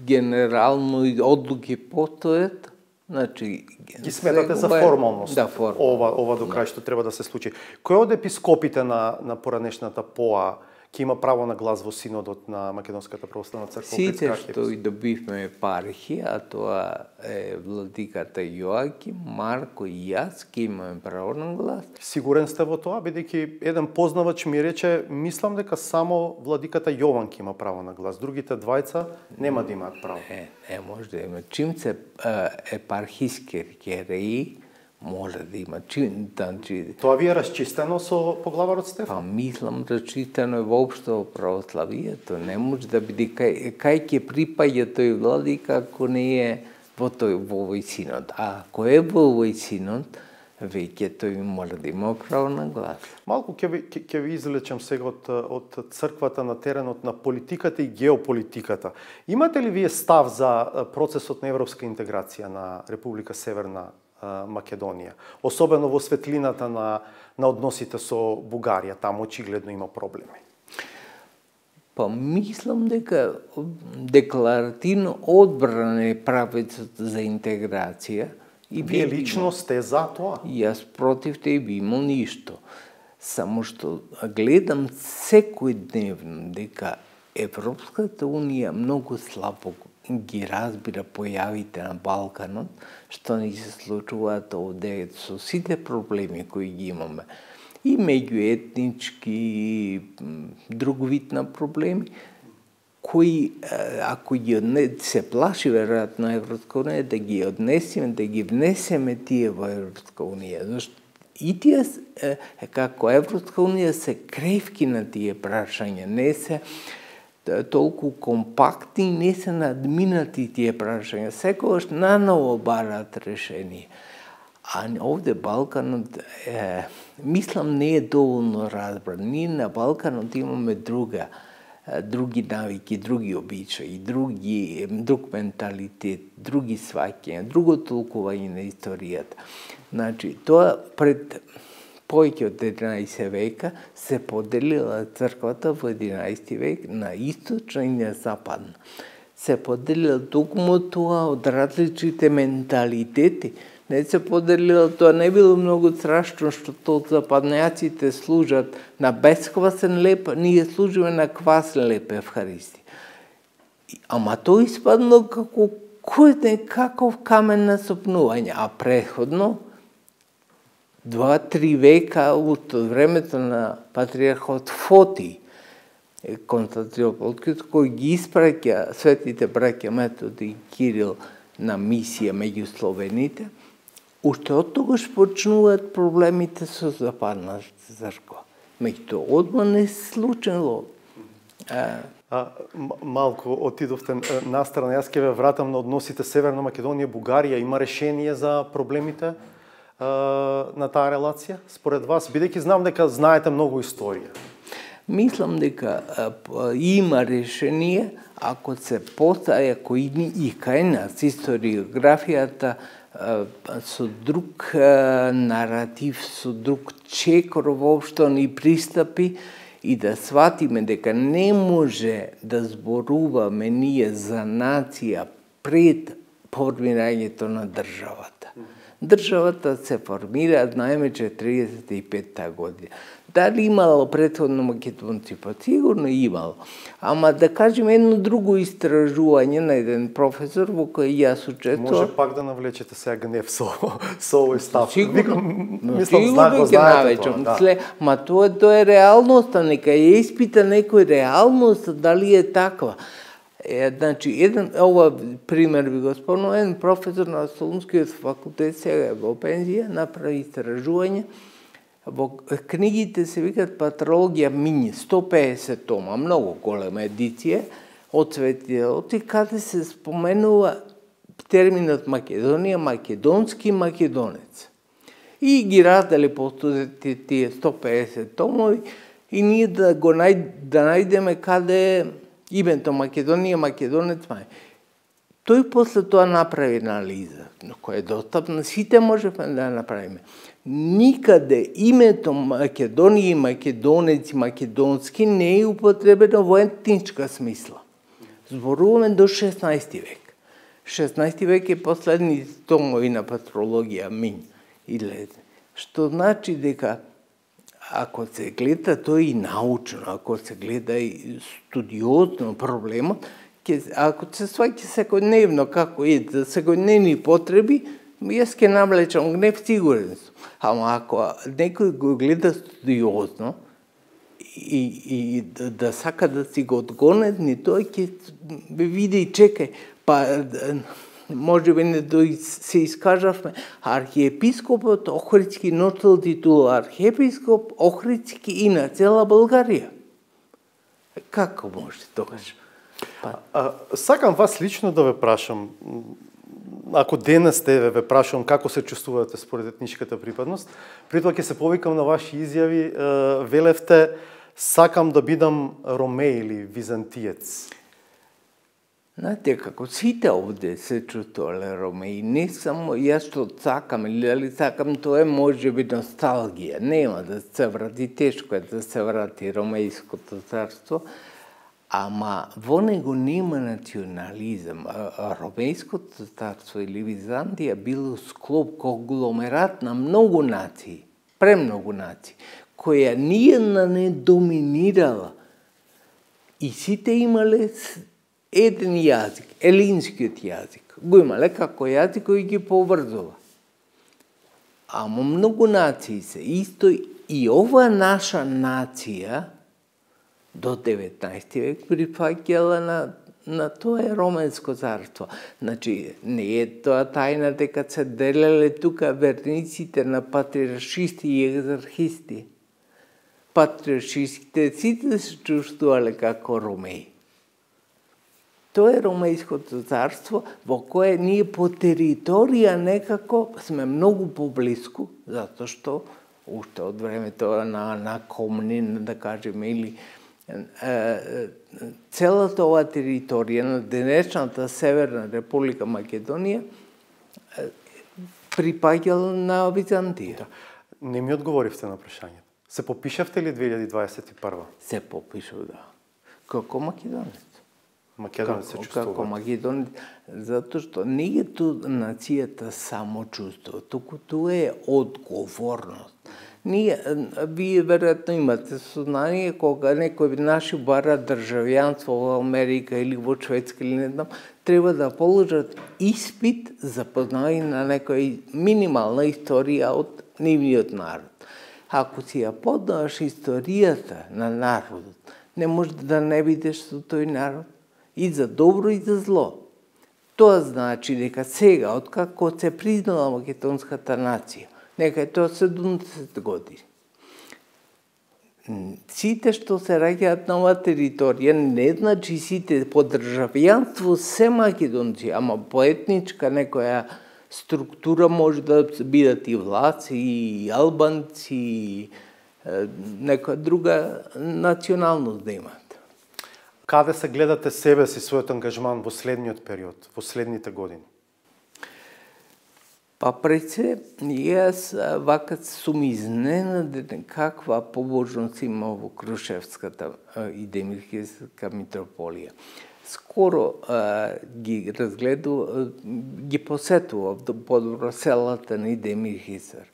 генерално одлуки постојат. Значи, ги сметате за формалност. Да, формално. Ова до крај што треба да се случи. Кој од епископите на поранешната ПОА ќе има право на глас во синодот на Македонската православна црква? Сите што и добивме епархија, а тоа е владиката Јоаким, Марко и јас, ќе имаме право на глас. Сигурен сте во тоа, бидејќи еден познавач ми рече: мислам дека само владиката Јован ќе има право на глас, другите двајца нема да имаат право. Не може да има. Чим се епархиски архиереи, може да има. Тоа ви е расчистено со поглаварот Стефан? Па мислам расчистено е воопшто во православието. Не може да биде кај ќе припаѓа тој владика ако не е во овој синод. А ако е во овој синод, веќе тој мора да има право на глас. Малку ќе ви извлечам сега од црквата на теренот на политиката и геополитиката. Имате ли вие став за процесот на европска интеграција на Република Северна Македонија, особено во светлината на односите со Бугарија? Таму очигледно има проблеми. Па мислам дека декларативно одбрана е правецот за интеграција. И вие лично сте за тоа? Јас против те би имал ништо. Само што гледам секојдневно дека Европската унија многу слабо ги разбира појавите на Балканот, што ни се случуваат овде со сите проблеми кои ги имаме. И меѓуетнички, и друг вид на проблеми, кои, ако ги се плаши веројатно Европска унија, да ги однесеме, да ги внесеме тие во Европска унија. Зашто и тие, како Европска унија, се кревки на тие прашања, не се толку компактни, не се надминати тие прашања. Секогаш наново бараат решение. А овде Балканот, мислам, не е доволно разбран. Ние на Балканот имаме други навики, други обичаи, друг менталитет, други сваќања, друго толкување на историјата. Значи, тоа пред повеќе од 11 века се поделила црквата во 11 век на источна и на западна. Се поделила токму тоа од различните менталитети. Не се поделила, тоа не било многу страшно што тоа западњаците служат на бесквасен леп, ние служиме на квасен леп Евхаристија. Ама тоа испадно како кој не каков камен на сопнување, а предходно 2-3 века од времето на патриархот Фоти, Константинополскиот, кој ги испраќа светите браќа Методи и Кирил на мисија меѓу словените, уште од тогаш почнуваат проблемите со западната црква. Меѓутоа, одма не се случило. Малку отидовте настрана, јас ќе ве вратам на односите Северна Македонија, Бугарија. Има решение за проблемите на таа релација? Според вас, бидејќи знам дека знаете многу историја. Мислам дека има решение ако се постави, ако и кај нас историографијата со друг наратив, со друг чекор воопшто ни пристапи и да сватиме дека не може да зборуваме ние за нација пред формирањето на државата. Државата се формира најмече 35-та година. Дали имало претходно македонци? Па сигурно имало. Ама да кажем едно друго истражување на еден професор во кој јас учествував. Може пак да навлечете сега гнев со овој став. Мислам, знаете тоа. Ма тоа е реалноста, нека ја испита некој реалноста, дали е таква. Значи, ова пример ви го спомнувам, еден професор на Солунскиот факултет, сега е во пензија, направи истражување. Во книгите се викат Патрологија Минј, 150 тома, многу голема едиција, од светите оти, каде се споменува терминот Македонија, македонски македонец. И ги раздали по студентите тие 150 томови и ние да најдеме каде е името Македонија, македонец мај. Тој после тоа направи анализа, која е достапна, сите можеме да направиме. Никаде името Македонија, македонец и македонски не е употребено во етничка смисла. Зборуваме до 16 век. 16 век е последни томови на Патрологија Минј. Што значи дека ако се гледа тој и научно, ако се гледа и студиозно проблемот, ако се сваќа секојдневно како е за секојдневни потреби, јас ќе навлечам гнев, сигурен сум. Ама ако некој го гледа студиозно и да сака да си го одгонетни, тој ќе види и чекај, па може би не се искажавме, архиепископот Охридски носел титула архиепископ Охридски и на цела Българија. Како може тогаш? Сакам вас лично да ве прашам, ако денес ве прашам како се чувствувате според етничката припадност, при тоа ќе се повикам на ваши изјави, велевте сакам да бидам ромеј или византиец. Знаете, како сите овде се чувствувале ромеи, не само јас што сакам или дали сакам, тоа е може би носталгија. Нема да се врати, тешко е да се врати ромејското царство, ама во него нема национализам. Ромејското царство или Византија било склоп, конгломерат на многу нации, премногу нации, која ниједна не доминирала. И сите имале еден јазик, елинскиот јазик, го имале како јазик кој ги поврзува. Ама многу нации се исто и ова наша нација до 19 век прифаќала на тоа Романско царство. Значи, не е тоа тајна дека се делеле тука верниците на патриаршисти и екзархисти. Патриаршистите сите се чувствувале како ромеи. Тоа е Ромејското царство во кое ние по територија некако сме многу поблиску, затоа што уште од времето на Комнин, да кажеме, или целата оваа територија на денешната Северна Република Македонија припаѓала на Византија. Не ми одговоривте на прашањето. Се попишавте ли 2021? Се попишав, да. Како македонец. Македонец се чувствува. Како македонец, затоа што не е ту нацијата само чувство, туку тоа е одговорност. Вие веројатно имате сознание кога некој наши бара државјанство во Америка или во Шведска или не знам, треба да положат испит за познавање на некоја минимална историја од нивниот народ. Ако си ја познаваш историјата на народот, не можеш да не бидеш со тој народ. И за добро и за зло. Тоа значи дека сега, откако се признала македонската нација, нека е тоа 70 години. Сите што се раѓаат на оваа територија, не значи сите по државјанство се македонци, ама по етничка некоја структура може да бидат и влаци, и албанци, и некоја друга националност да имат. Каде се гледате себе си, својот ангажман во следниот период, во следните години? Па пред се, јас вака сум изненаден каква побожност има во Крушевската и Демирхијска митрополија. Скоро ги посетував подобро селата на Демирхисар.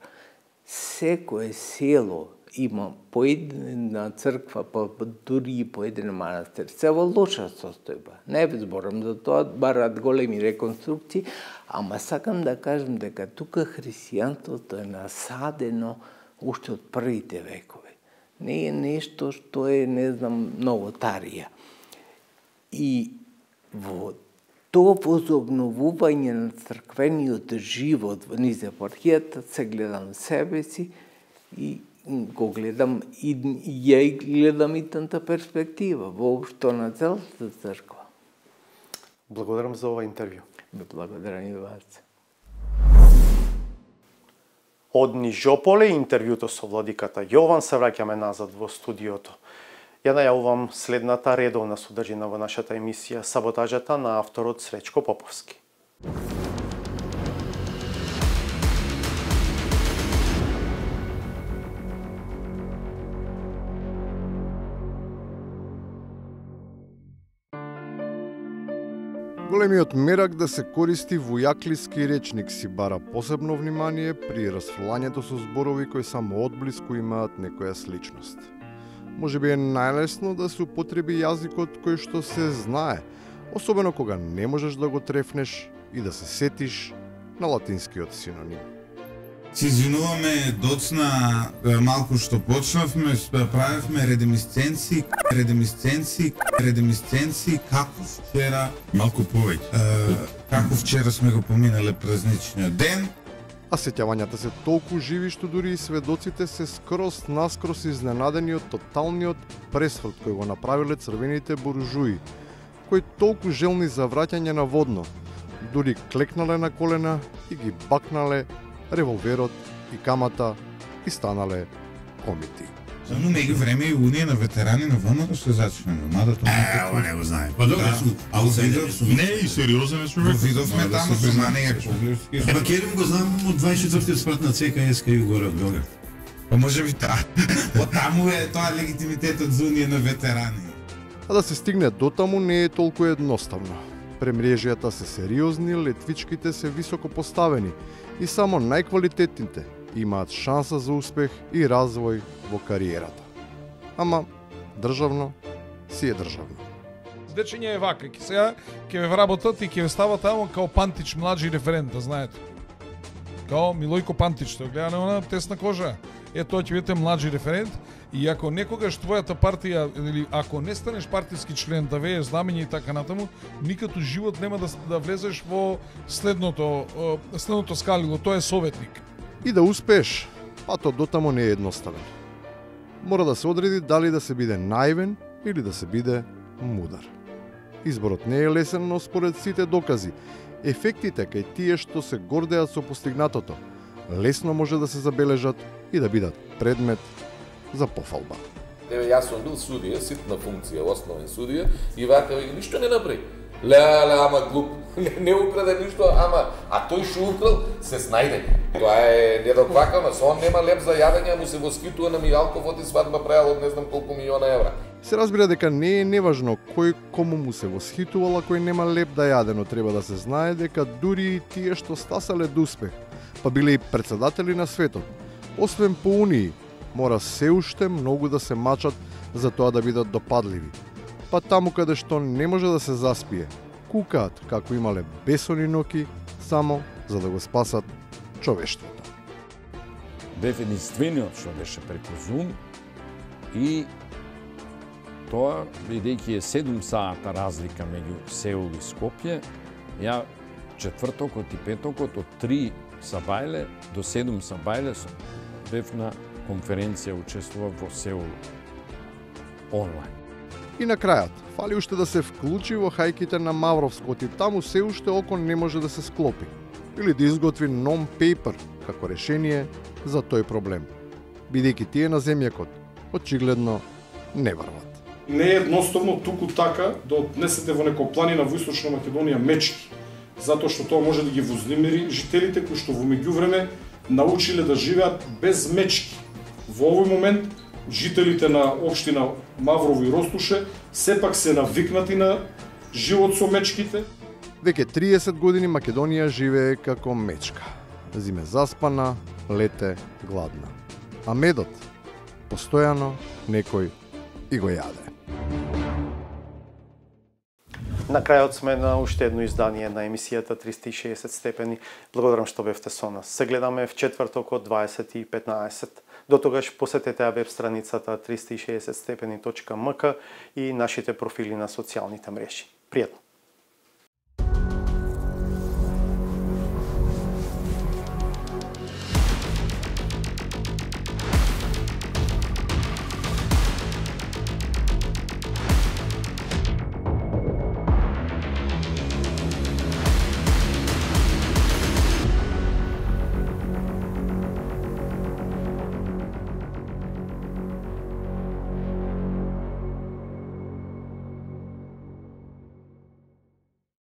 Секое село има по една црква, дури и по еден манастир. Се во лоша состојба. Не зборам за тоа, барат големи реконструкции, ама сакам да кажем дека тука христијанството е насадено уште од првите векови. Не е нешто што е, не знам, новотарија. И во тоа возобновување на црквениот живот низ епархијата се гледам себе си и го гледам и ја гледам и тата перспектива воопшто на целата црква. Благодарам за ова интервју. Благодарам и вас. Од Нижополе интервјуто со владиката Јован се враќаме назад во студиото. Ја најавувам следната редовна содржина во нашата емисија Саботажата на авторот Сречко Поповски. Големиот мерак да се користи војаклиски речник си бара посебно внимание при расфрлањето со зборови кои само одблиску имаат некоја сличност. Можеби е најлесно да се употреби јазикот кој што се знае, особено кога не можеш да го трефнеш и да се сетиш на латинскиот синоним. Се извинуваме, доцна малку што почнавме, правевме редемисценци, како вчера, малку повеќе. Како вчера сме го поминале празничниот ден. А сеќавањата се толку живи што дури и сведоците се наскрос изненадени од тоталниот пресврт кој го направиле црвените буржуи, кои толку желни за враќање на водно, дури клекнале на колена и ги бакнале револверот и камата и станале комити. За меѓу време и Унија на ветерани на ВМР се зачнено, мада тоа не го знае. Па добро, а не и сериозен е човек. Видовме таму Зуманија Коглевски. Еба Керим го знам од 24-тиот спрат на ЦКС и горе од Белград. Па може би таа. Таму е тоа легитимитетот за Унија на ветерани. А да се стигне до таму не е толку едноставно. Премрежјата се сериозни, летвичките се високо поставени и само најквалитетните имаат шанса за успех и развој во кариерата. Ама државно си е државно. дечење е вака, сега ќе ве вработат и ќе ве стават тамо као Пантич младши референт, да знаете. Као Милојко Пантич, тоа гледа на она тесна кожа. Тоа ќе бидете младши референт и ако некогаш твојата партија или ако не станеш партиски член да вееш знамење и така натаму, никако живот нема да влезеш во следното скалило, тоа е советник. И да успееш, патот дотамо не е едноставен. Мора да се одреди дали да се биде наивен или да се биде мудар. Изборот не е лесен, но според сите докази, ефектите кај тие што се гордеат со постигнатото, лесно може да се забележат и да бидат предмет за пофалба. Јас сум бил судија, ситна функција, основен судија, и вака ништо не направи. Леле, ама глуп, не украде ништо, а тој што украл се снајде. Тоа е недоквакано, он нема леп за јадење, му се восхитува на Мијалков, оти свадба правил од не знам колку милиона евра. Се разбира дека не е неважно кој кому му се восхитувал, а кој нема леп да јаде, но треба да се знае дека дури и тие што стасале до успех, па биле и председатели на светот, освен по унии, мора се уште многу да се мачат за тоа да бидат допадливи. Па таму каде што не може да се заспие, кукаат како имале бесони ноки, само за да го спасат човештвото. Бев единствениот што беше преку Zoom и тоа, бидејќи е 7 сата разлика меѓу Сеул и Скопје, ја четвртокот и петокот од 3 сабајле до 7 сабајле бев на конференција, учествував во Сеул онлайн. И на крајот, фали уште да се вклучи во хајките на Мавровскот и таму се уште око не може да се склопи. Или да изготви non-paper како решение за тој проблем. Бидејќи тие на земјакот очигледно не врват. Не е едноставно туку така да однесете во некоја планина во Источна Македонија мечки, затоа што тоа може да ги вознемири жителите кои што во меѓувреме научиле да живеат без мечки. Во овој момент жителите на општина Маврово и Ростуше сепак се навикнати на живот со мечките. Веќе 30 години Македонија живее како мечка. Зиме заспана, лете гладна. А медот постојано некој и го јаде. На крајот сме на уште едно издание на емисијата 360 степени. Благодарам што бевте со нас. Се гледаме в четврток од 20:15. До тогаш посетете веб страницата 360stepeni.mk и нашите профили на социјалните мрежи. Пријатно!